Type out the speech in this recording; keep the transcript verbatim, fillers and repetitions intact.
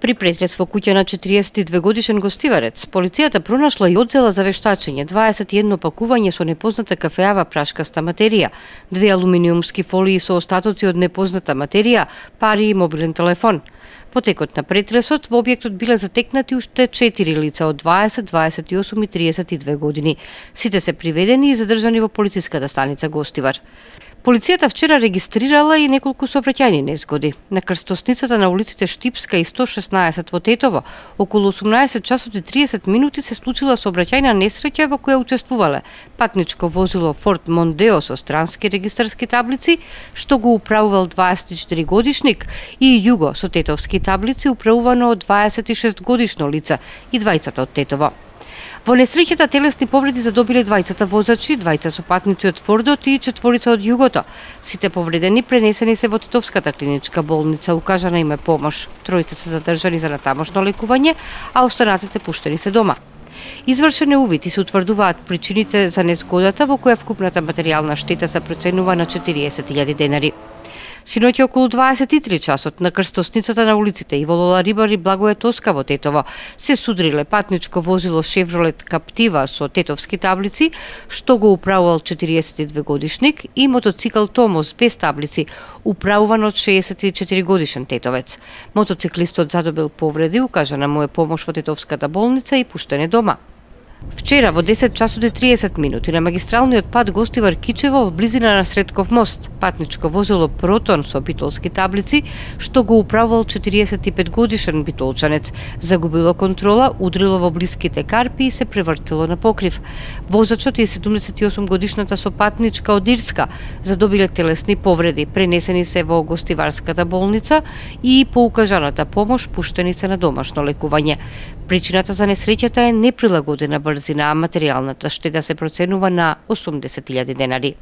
При претрес во куќа на четириесет и две годишен гостиварец, полицијата пронашла и одзела за вештачење дваесет и едно пакување со непозната кафеава прашкаста материја, две алуминиумски фолии со остатоци од непозната материја, пари и мобилен телефон. Во текот на претресот во објектот биле затекнати уште четири лица од дваесет, дваесет и осум и триесет и две години. Сите се приведени и задржани во полициската станица Гостивар. Полицијата вчера регистрирала и неколку сообраќајни незгоди. На крстосницата на улиците Штипска и сто шеснаесет во Тетово, околу осумнаесет часот и триесет минути се случила сообраќајна несреќа во која учествувале патничко возило Форд Мондео со странски регистарски таблици, што го управувал дваесет и четири годишник, и Југо со тетовски таблици управувано од дваесет и шест годишно лице и двајцата од Тетово. Во несреќата телесни повреди задобиле двајцата возачи, двајца со патници од Фордот и четворица од Југото. Сите повредени пренесени се во Тетовската клиничка болница, укажана им е помош. Тројца се задржани за натамошно лекување, а останатите пуштени се дома. Извршен е увид и се утврдуваат причините за незгодата, во која вкупната материјална штета се проценува на четириесет илјади денари. Синоќа околу дваесет и три часот на крстосницата на улиците Иволола Рибар и Благоје Тоска во Тетово се судриле патничко возило Шевролет Каптива со тетовски таблици, што го управувал четириесет и две годишник, и мотоцикл Томос без таблици, управуван од шеесет и четири годишен тетовец. Мотоциклистот задобил повреди, укажана му е помош во Тетовската болница и пуштен е дома. Вчера во десет часот и триесет минути на магистралниот пат Гостивар Кичево, в близина на Средков мост, патничко возило Протон со битолски таблици, што го управувал четириесет и пет годишен битолчанец, загубило контрола, удрило во блиските карпи и се превртило на покрив. Возачот и седумдесет и осум годишната со патничка од Ирска задобиле телесни повреди, пренесени се во Гостиварската болница и по укажаната помош пуштени се на домашно лекување. Причината за несреќата е неприлагодена брзина, а материјалната штета се проценува на осумдесет илјади денари.